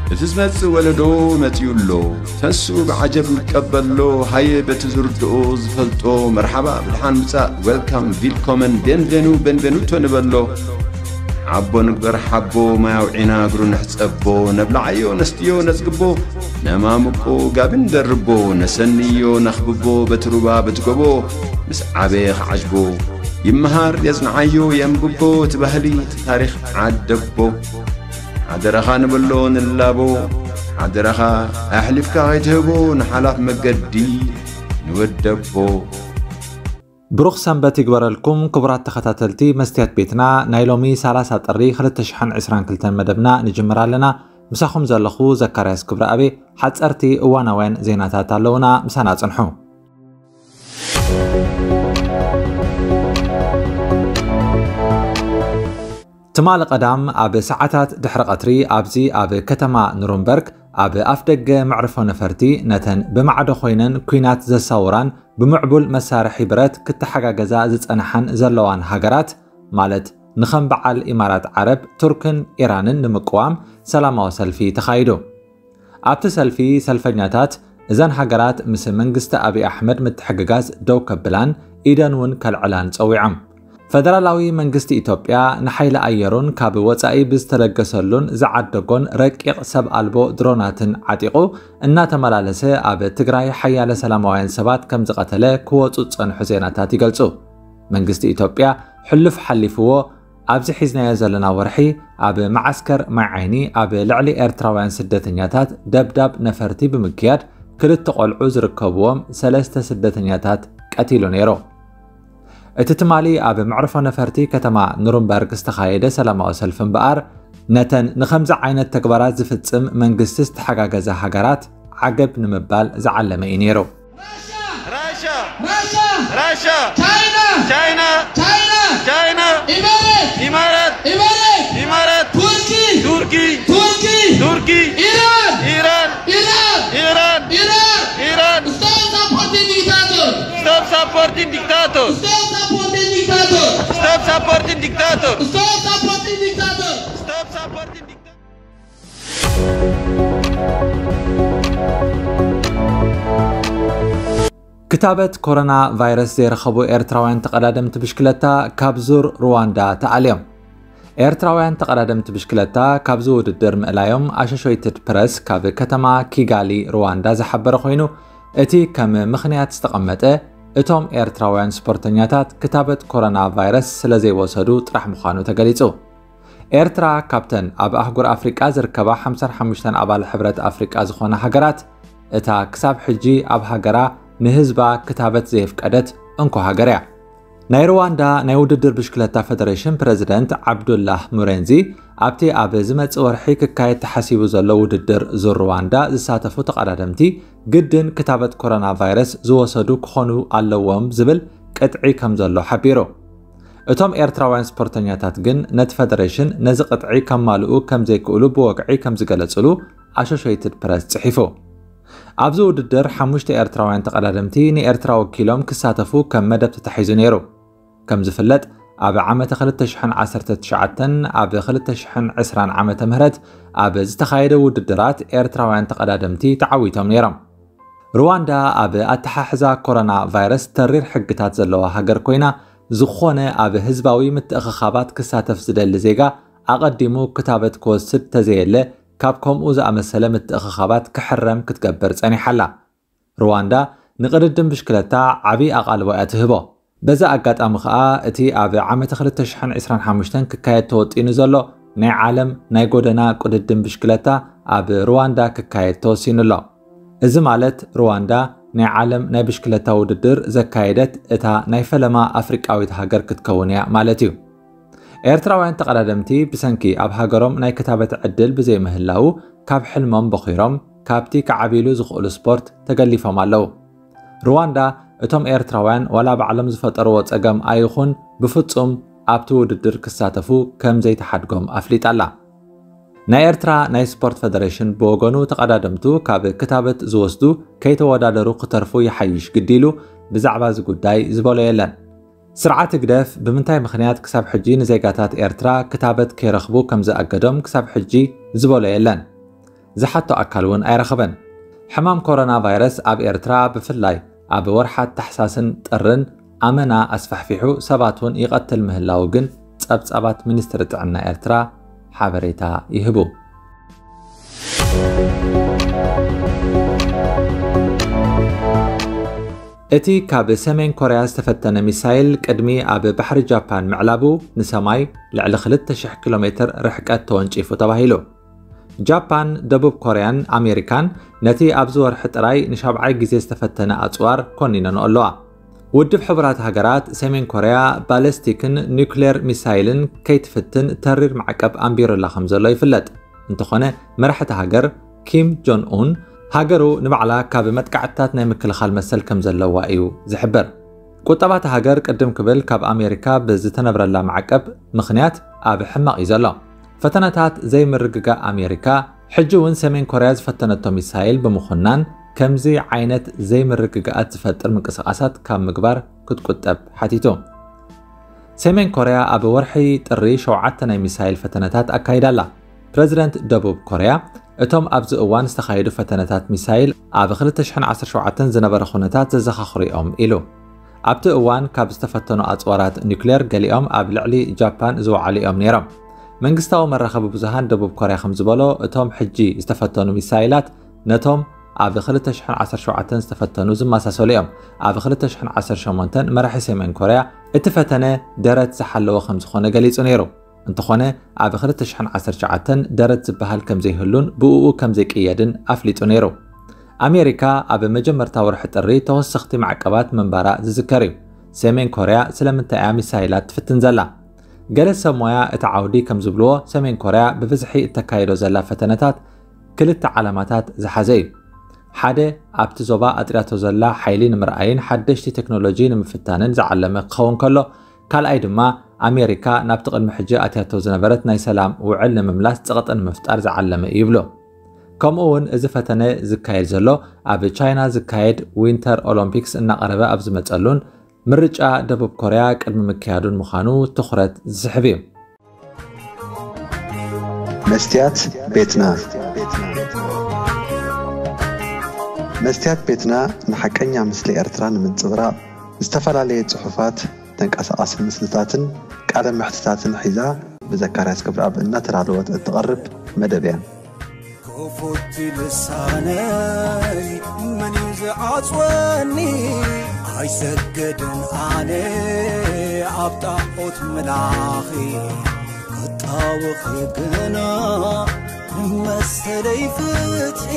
እቲ ዝመጽእ ወለዶ መጺኡ ኣሎ። ተስኡ ብዓጀብ ይቀበሎ። ሃየ በቲ ዝርድኦ ዝፈልጦ መርሓባ ብድሓን ምጻእ፣ ዌልካም፣ ቪልኮመን፣ ቤንቬኑ፣ ቤንቬኑቶ ንበሎ። ዓቦ ንግበር ሓቦ፣ ማይ ኣውዒና እግሩ ንሕጸቦ። ነብልዓዮ ነስትዮ ነጽግቦ፣ ነማምቆ ጋቢ ንደርቦ። ነሰንዮ ነኽብቦ በቲ ሩባ በቲ ጎቦ። ምስ ዓበየ ክዓጅቦ ይመሃር የጽንዓዮ የንብቦ። እቲ ባህሊ እቲ ታሪኽ ዓደቦ። ሓደራኻ ንበሎ ንላቦ። ሓደራኻ ኣሕሊፍካ ከይትህቦ ንሓላፍ መገዲ ንወደቦ። ብሩኽ ሰንበት ይግበረልኩም ክቡራት ተኸታተልቲ መስትያት ቤትና። ናይ ሎሚ ሰላሳ ጥሪ ክልተ ሽሕን ዕስራን ክልተን መደብና ንጅምር ኣለና። ምሳኹም ዘለኹ ዘካርያስ ክብረኣቤ። ሓጸርቲ እዋናውያን ዜናታት ኣለዉና፣ ምሳና ጽንሑ። ትማሊ ቀዳም ኣብ ሰዓታት ድሕሪ ቀትሪ ኣብዚ ኣብ ከተማ ኑሩምበርግ ኣብ ኣፍደገ መዕርፎ ነፈርቲ ነተን ብማዕዶ ኮይነን ኲናት ዘሳውራን ብምዕቡል መሳርሒ ብረት ክተሓጋገዛ ዝጸንሓን ዘለዋን ሃገራት፣ ማለት ንኸም በዓል ኢማራት ዓረብ፣ ቱርክን ኢራንን ንምቅዋም ሰላማዊ ሰልፊ ተኻይዱ። ኣብቲ ሰልፊ ሰልፈኛታት እዘን ሃገራት ምስ መንግስቲ ኣብይ ኣሕመድ ምትሕግጋዝ ደው ከብላን ኢደን እውን ከልዕላን ጸዊዖም። ፈደራላዊ መንግስቲ ኢትዮጵያ ንሓይሊ ኣየሩን ካብ ወጻኢ ብዝተለገሰሉን ዝዓደጎን ረቂቕ ሰብ ኣልቦ ድሮናትን ዓጢቑ እናተመላለሰ ኣብ ትግራይ ሓያለ ሰላማውያን ሰባት ከም ዝቐተለ ክወጹ ዝጸንሑ ዜናታት ይገልጹ። መንግስቲ ኢትዮጵያ ሕሉፍ ሓሊፍዎ ኣብዚ ሒዝናዮ ዘለና ወርሒ ኣብ መዓስከር ማይ ዓይኒ ኣብ ልዕሊ ኤርትራውያን ስደተኛታት ደብዳብ ነፈርቲ ብምክያድ ክልተ ቆልዑ ዝርከብዎም ሰለስተ ስደተኛታት ቀቲሉ ነይሩ። እቲ ትማሊ ኣብ መዕርፎ ነፈርቲ ከተማ ኑሩምበርግ ዝተኻየደ ሰላማዊ ሰልፊ እምበኣር ነተን ንኸምዚ ዓይነት ተግባራት ዝፍጽም መንግስቲ ዝተሓጋገዛ ሃገራት ዓገብ ንምባል ዝዓለመ እዩ ነይሩ። Russia! Russia! Russia! Russia! China! China! China! China! Emirates! Emirates! Emirates! Emirates! Turkey! Turkey! Turkey! Turkey! Iran! Iran! Iran! Iran! Iran! Iran! Stop supporting dictator! Stop supporting dictator! Stop supporting dictator! Stop supporting dictator! Stop supporting dictator! Stop supporting dictator! ክታበት ኮሮና ቫይረስ ዘይረኸቡ ኤርትራውያን ተቐዳደምቲ ብሽክለታ ካብ ዙር ሩዋንዳ ተኣልዮም። ኤርትራውያን ተቐዳደምቲ ብሽክለታ ካብዚ ውድድር ምእላዮም ኣሾሾይትድ ፕረስ ካብ ከተማ ኪጋሊ ሩዋንዳ ዝሓበረ ኮይኑ፣ እቲ ከም ምኽንያት ዝተቐመጠ እቶም ኤርትራውያን ስፖርተኛታት ክታበት ኮሮና ቫይረስ ስለ ዘይወሰዱ ጥራሕ ምዃኑ ተገሊጹ። ኤርትራ ካብተን ኣብ ኣህጉር ኣፍሪቃ ዝርከባ ሓምሳን ሓሙሽተን ኣባል ሕብረት ኣፍሪቃ ዝኾና ሃገራት እታ ክሳብ ሕጂ ኣብ ሃገራ ንህዝባ ክታበት ዘየፍቀደት እንኮ ሃገር እያ። ናይ ሩዋንዳ ናይ ውድድር ብሽክለታ ፈደሬሽን ፕረዚደንት ዓብዱላህ ሙሬንዚ ኣብቲ ኣብ ዝመጽእ ወርሒ ክካየድ ተሓሲቡ ዘሎ ውድድር ዙር ሩዋንዳ ዝሳተፉ ተቐዳደምቲ ግድን ክታበት ኮሮና ቫይረስ ዝወሰዱ ክኾኑ ኣለዎም ዝብል ቅጥዒ ከም ዘሎ ሓቢሩ። እቶም ኤርትራውያን ስፖርተኛታት ግን ነቲ ፈደሬሽን ነዚ ቅጥዒ ከማልኡ ከም ዘይክእሉ ብወግዒ ከም ዝገለጹሉ ኣሾሾይትድ ፕረስ ጽሒፉ። ኣብዚ ውድድር ሓሙሽተ ኤርትራውያን ተቐዳደምቲ ንኤርትራ ወኪሎም ክሳተፉ ከም መደብ ተታሒዙ ነይሩ። ከም ዝፍለጥ፣ ኣብ ዓመተ ክልተ ሽሕን ዓሰርተ ትሽዓተን ኣብ ክልተ ሽሕን ዕስራን ዓመተ ምህረት ኣብ ዝተኻየደ ውድድራት ኤርትራውያን ተቐዳደምቲ ተዓዊቶም ነይሮም። ሩዋንዳ ኣብ ኣተሓሕዛ ኮሮና ቫይረስ ተሪር ሕግታት ዘለዋ ሃገር ኮይና፣ ዝኾነ ኣብ ህዝባዊ ምትእኽኻባት ክሳተፍ ዝደሊ ዜጋ ኣቐዲሙ ክታበት ክወስድ ተዘየለ ካብ ከምኡ ዝኣመሰለ ምትእኽኻባት ክሕረም ክትገብር ጸኒሓ ኣላ። ሩዋንዳ ንቕድድም ብሽክለታ ዓቢ ኣቓልቦ እያ ትህቦ። በዚ ኣጋጣሚ ኸኣ እቲ ኣብ ዓመተ ክልተ ሽሕን ዕስራን ሓሙሽተን ክካየድ ተወጢኑ ዘሎ ናይ ዓለም ናይ ጎደና ቅድድም ብሽክለታ ኣብ ሩዋንዳ ክካየድ ተወሲኑ ኣሎ። እዚ ማለት ሩዋንዳ ናይ ዓለም ናይ ብሽክለታ ውድድር ዘካየደት እታ ናይ ፈለማ ኣፍሪቃዊት ሃገር ክትከውን እያ ማለት እዩ። ኤርትራውያን ተቐዳደምቲ ብሰንኪ ኣብ ሃገሮም ናይ ክታበት ዕድል ብዘይምህላዉ ካብ ሕልሞም በኺሮም ካብቲ ክዓብይሉ ዝኽእሉ ስፖርት ተገሊፎም ኣለዉ። ሩዋንዳ እቶም ኤርትራውያን ዋላ ባዕሎም ዝፈጠርዎ ጸገም ኣይኹን ብፍጹም ኣብቲ ውድድር ክሳተፉ ከም ዘይተሓድጎም ኣፍሊጣ ኣላ። ናይ ኤርትራ ናይ ስፖርት ፈደሬሽን ብወገኑ ተቐዳደምቱ ካብ ክታበት ዝወስዱ ከይተወዳደሩ ክተርፉ ይሓይሽ ግዲ ኢሉ ብዛዕባ እዚ ጉዳይ ዝበሎ የለን። ስርዓት ህግደፍ ብምንታይ ምኽንያት ክሳብ ሕጂ ንዜጋታት ኤርትራ ክታበት ከይረኽቡ ከም ዝኣገዶም ክሳብ ሕጂ ዝበሎ የለን። ዝሓቶ ኣካል እውን ኣይረኸበን። ሕማም ኮሮና ቫይረስ ኣብ ኤርትራ ብፍላይ ኣብ ወርሓት ታሕሳስን ጥርን ኣመና ኣስፋሕፊሑ ሰባት እውን ይቐትል ምህላዉ ግን ጸብጻባት ሚኒስትሪ ጥዕና ኤርትራ ሓበሬታ ይህቡ። እቲ ካብ ሰሜን ኮርያ ዝተፈተነ ሚሳይል ቅድሚ ኣብ ባሕሪ ጃፓን ምዕላቡ ንሰማይ ልዕሊ ክልተ ሽሕ ኪሎ ሜትር ርሕቀት ተወንጪፉ ተባሂሉ። ጃፓን፣ ደቡብ ኮርያን ኣሜሪካን ነቲ ኣብዚ ወርሒ ጥራይ ንሻብዓይ ግዜ ዝተፈተነ ኣጽዋር ኮኒነንኦ ኣለዋ። ውድብ ሕቡራት ሃገራት ሰሜን ኮርያ ባለስቲክን ኒውክሌር ሚሳይልን ከይትፍትን ተሪር ማዕቀብ ኣንቢሩላ ከም ዘሎ ይፍለጥ። እንተኾነ መራሕቲ ሃገር ኪም ጆን ኡን ሃገሩ ንባዕላ ካብ መጥቃዕትታት ናይ ምክልኻል መሰል ከም ዘለዋ እዩ ዝሕበር። ቁጠባ እታ ሃገር ቅድም ክብል ካብ ኣሜሪካ ብዝተነብረላ ማዕቀብ ምኽንያት ኣብ ሕማቕ እዩ ዘሎ። ፈተነታት ዘይምርግጋእ ኣሜሪካ ሕጂ እውን ሰሜን ኮርያ ዝፈተነቶ ሚሳይል ብምኹናን ከምዚ ዓይነት ዘይምርግጋኣት ዝፈጥር ምንቅስቓሳት ካብ ምግባር ክትቁጠብ ሓቲቱ። ሰሜን ኮርያ ኣብ ወርሒ ጥሪ ሸውዓተ ናይ ሚሳይል ፈተነታት ኣካይዳ ኣላ። ፕረዚደንት ደቡብ ኮርያ እቶም ኣብዚ እዋን ዝተኻየዱ ፈተነታት ሚሳይል ኣብ ክልተ ሽሕን ዓሰርተ ሸውዓተን ዝነበረ ኩነታት ዘዘኻኽሩ እዮም ኢሉ። ኣብቲ እዋን ካብ ዝተፈተኑ ኣጽዋራት ኒውክሌር ገሊኦም ኣብ ልዕሊ ጃፓን ዝወዓሉ እዮም ነይሮም። መንግስታዊ መራኸቢ ብዙሃን ደቡብ ኮርያ ከም ዝበሎ እቶም ሕጂ ዝተፈተኑ ሚሳይላት ነቶም ኣብ ክልተ ሽሕን ዓሰርተ ሸውዓተን ዝተፈተኑ ዝመሳሰሉ እዮም። ኣብ ክልተ ሽሕን ዓሰርተ ሸሞንተን መራሒ ሰሜን ኮርያ እቲ ፈተነ ደረት ዝሓለወ ከም ዝኾነ ገሊጹ ነይሩ። እንተኾነ ኣብ ክልተ ሽሕን ዓሰርተ ትሽዓተን ደረት ዝበሃል ከም ዘይህሉን ብእኡ ከም ዘይቅየድን ኣፍሊጡ ነይሩ። ኣሜሪካ ኣብ መጀመርታ ወርሒ ጥሪ ተወሰኽቲ ማዕቀባት ምንባራ ዝዝከር እዩ። ሰሜን ኮርያ ስለምንታይ እያ ሚሳይላት ትፍትን ዘላ? ገለ ሰብ ሞያ እቲ ዓውዲ ከም ዝብልዎ ሰሜን ኮርያ ብብዝሒ እተካይዶ ዘላ ፈተነታት ክልተ ዓላማታት ዝሓዘ እዩ። ሓደ ኣብቲ ዞባ ኣጥርያቶ ዘላ ሓይሊ ንምርኣይን ሓደሽቲ ቴክኖሎጂ ንምፍታንን ዝዓለመ ክኸውን ከሎ፣ ካልኣይ ድማ ኣሜሪካ ናብቲ ቅድሚ ሕጂ ኣትያቶ ዝነበረት ናይ ሰላም ውዕል ንምምላስ ጸቕጢ ንምፍጣር ዝዓለመ እዩ ይብሉ። ከምኡ እውን እዚ ፈተነ ዝካየድ ዘሎ ኣብ ቻይና ዝካየድ ዊንተር ኦሎምፒክስ እናቐረበ ኣብ ዝመጸሉን ምርጫ ደቡብ ኮርያ ቅድሚ ምክያዱን ምዃኑ ትኹረት ዝስሕብ እዩ። መስትያት ቤትና መስትያት ቤትና ንሓቀኛ ምስሊ ኤርትራ ንምንጽብራቕ ዝተፈላለየ ጽሑፋት፣ ተንቀሳቓሲ ምስልታትን ቃለ መሕትታትን ሒዛ ብዘካርያስ ክብረኣብ እናተዳለወት እትቐርብ መደብ እያ። ክፉት ልሳነይ መን እዩ ዝዓጽወኒ? ኣይሰገድን ኣነ ኣብ ጣዖት ምላኺ ክጣወኺ ግና መሰለይ ፍትሒ